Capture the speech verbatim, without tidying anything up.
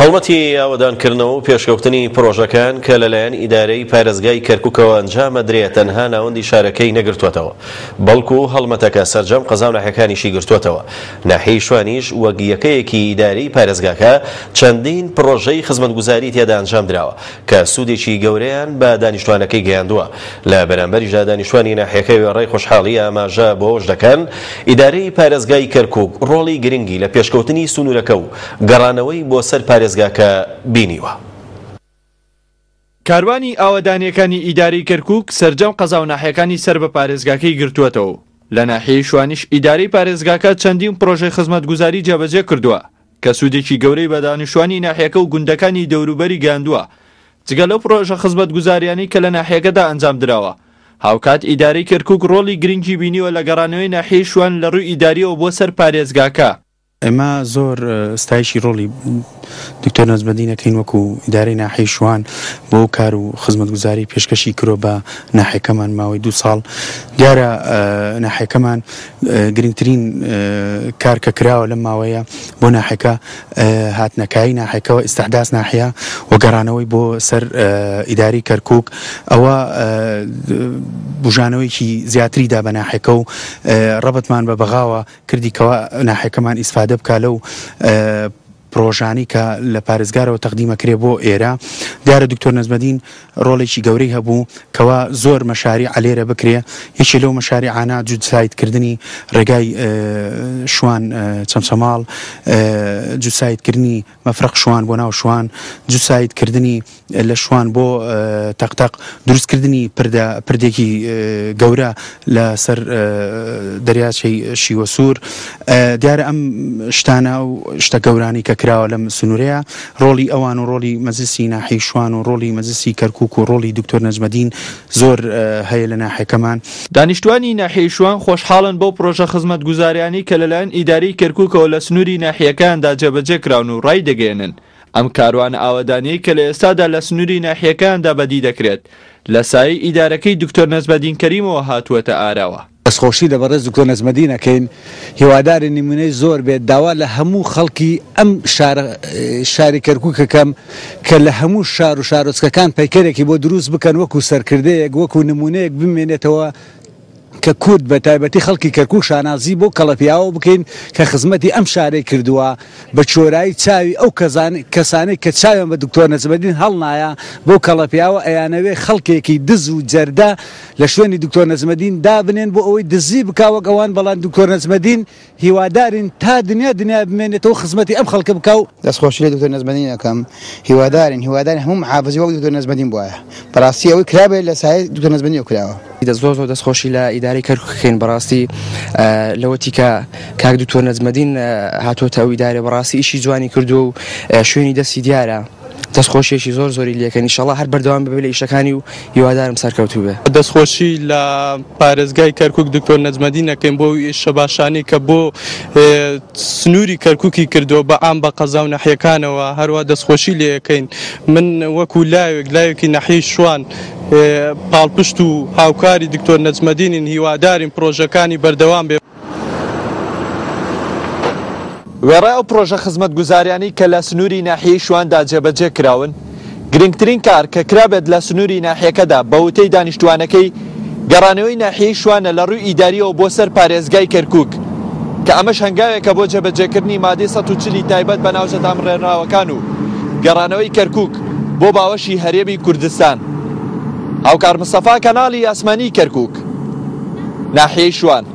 هەڵمەتی ئاوەدانکردنەوە و پێشکەوتنی پرۆژەکان کە لەلایەن ئیدارەی پارێزگای کەرکووکەوە ئەنجامەدرێت تەنها ناوەندی شارەکەی نەگرتووەتەوە، بەڵکو هەڵمەتەکە سەرجەم قەزا و ناحیەکانیشی گرتووەتەوە. ناحیەی شوانیش وەک یەکەیەکی ئیدارەی پارێزگاکە چەندین پرۆژەی خزمەتگوزاری تێدا ئەنجام دراوە کە سوودێکی گەورەیان بە دانیشتوانەکەی گەیاندووە. لە بەرامبەریشدا دانیشتوانی ناحیەکە وێڕای خۆشحاڵی ئاماژە بۆش دەکەن ئیدارەی پارێزگای کەرکووک ڕۆڵی گرنگی لە پێشکەوتنی سنوورەکە و گەڕانەوەی بۆ سەر پارێزگاکە بینیوە. کاروانی ئاوەدانیەکانی ئیدارەی کەرکووک سەرجەم قەزا و ناحیەکانی سەر بە پارێزگاکەی گرتووەتەوە. لە ناحیەی شوانیش ئیدارەی پارێزگاکە چەندین پرۆژەی خزمەتگوزاری جێبەجێ کردووە کە سوودێکی گەورەی بە دانیشتوانی ناحیەکە و گوندەکانی دەوروبەری گەیاندووە. جگە لەو پرۆژە خزمەتگوزاریانەی کە لە ناحیەکەدا ئەنجام دراوە، هاوکات ئیدارەی کەرکووک ڕۆڵی گرنگی بینیوە لە گەڕانەوەی ناحیەی شوان لە ڕووی ئیداریەوە بۆ سەر پارێزگاکە. ئێمە زۆر ستایشی ڕۆڵی دکتۆر نەجمەدین ئەکەین وەکو ئیدارەی ناحیەی شوان بۆ کار و خزمەتگوزاری پێشکەشی کرۆ بە ناحیەکەمان ماوەی دوو ساڵ. دیارە ناحیەکەمان گرنگترین کار کە کراوە لەم ماوەیە بۆ ناحیەکە هاتنەکایی ناحیەکەوە ئیستحداث ناحیە و گەڕانەوەی بۆ سەر ئیداری کەرکووک، ئەوە بژانەوەیەکی زیاتری دا بە ناحیەکە و ڕەبتمان بە بەغاوە کردی کەوا ناحیەکەمان ئیسفادە بکا لەو پرۆژانی کە لە پارێزگارەوە تەقدیمەکرێ بۆ ئێرە. دیارە دکتۆر نەجمەدین ڕۆڵێکی گەورەی هەبوو کەوا زۆر مەشاریع لێرە بکرێ. یەکێ لەو مەشاریعانە جوودسایتکردنی ڕێگای شوان چەمچەماڵ، جوودسایتکردنی مەفرەق شوان بۆ ناو شوان، جوودسایتکردنی لە شوان بۆ تەقتەق، دروستکردنی پردێکی گەورە لەسەر دەریاچەی شیوەسوور. دیارە ئەم شتانە و شتە گەورانی کە کراوە لەم سنوورەیە ڕۆڵی ئەوان و ڕۆڵی مەجلسی ناحیەی شوان و ڕۆڵی مەجلسی کەرکووک و ڕۆڵی دکتۆر نەجمەدین زۆر هەیە لە ناحیەکەمان. دانیشتوانی ناحیەی شوان خۆشحاڵن بەو پرۆژە خزمەتگوزاریانەی کە لەلایەن ئیدارەی کەرکووکەوە لە سنووری ناحیەکەیاندا جێبەجێ کراون و ڕای دەگەیەنن ئەم کاروانە ئاوەدانیەی کە لە ئێستادا لە سنووری ناحیەکەیاندا بەدی دەکرێت لە سایەی ئیدارەکەی دکتۆر نەجمەدین کەریمەوە هاتووەتە ئاراوە. دەستخۆشی لە بەڕێز دکتۆر نەجمەدین ئەکەین، هیواداری نمونەی زۆر بێت. داوا لە هەموو خەڵکی ئەم شاری کەرکووکەکەم کە لە هەموو شار و شارۆچکەکان پەیکەرێکی بۆ دروست بکەن وەکو سەرکردەیەک، وەکو نمونەیەک بمێنێتەوە کە کورد بە تایبەتی خەڵکی کەرکووک شانازی بۆ کەڵەپیاوە بکەین کە خزمەتی ئەم شارەی کردووە. بە چۆرایی چاوی ئەو کەسانەی کە چاویان بە دکتۆر نەجمەدین هەڵنایە بۆ کەڵەپیاوە ئەیانەوێ خەڵکێکی دز و جەردە لە شوێنی دکتۆر نەجمەدین دابنێن بۆ ئەوەی دزی بکا وەک ئەوان. بەڵام دکتۆر نەجمەدین هیوادارین تا دنیا دنیا بمێنێتەوە خزمەتی ئەم خەڵکە بکا و دەستخۆشی لە دکتۆر نەجمەدین ئەکەم. هیوادارین هیوادارین هەموو محافزی وەک دکتۆر نەجمەدین بوایە. بەڕاستی ئەوەی کرابێت لە سایەی دکتۆر نەجمەدینەوە کراوە. زۆر زۆر دەستخۆشی لە ئیدارەی کەرکووکەکەین بەڕاستی لەوەتی کە کاک دکتۆر نەجمەدین هاتووەتە ئەو ئیدارە بەڕاستی ئیشی جوانی کردووە و شوێنی دەستی دیارە. دەستخۆشیێکی زۆر زۆری لێکەن، ئینشەڵڵا هەر بەردەوام ببێت لە ئیشەکانی و هیوادارم سەرکەوتوو بێ. دەستخۆشی لە پارێزگای کەرکووک دکتۆر نەجمەدین ئەکەین بۆ ئیشە باشانی کە بۆ سنووری کەرکووکی کردووە بە عام بە قەزا و ناحیەکانەوە. هەروە دەستخۆشی لێەکەین. من وەکو لاوێک لاوێکی ناحیەی شوان پاڵپشت و هاوکاری دکتۆر نەجمەدینین، هیوادارین پرۆژەکانی بەردەوام بێ. وێڕای ئەو پرۆژە خزمەتگوزاریانەی کە لە سنووری ناحیەی شواندا جێبەجێ کراون، گرنگترین کار کە کرابێت لە سنووری ناحیەکەدا بە وتەی دانیشتوانەکەی گەڕانەوەی ناحیەی شوانە لە ڕووی ئیداریەوە بۆ سەر پارێزگای کەرکووک کە ئەمەش هەنگاوێکە بۆ جێبەجێکردنی مادەی سەد و چلی تایبەت بە ناوچە دامڕێنراوەکان و گەڕانەوەی کەرکووک بۆ باوەشی هەرێمی کوردستان. هاوکار مستەفا، کەناڵی ئاسمانی کەرکووک، ناحیەی شوان.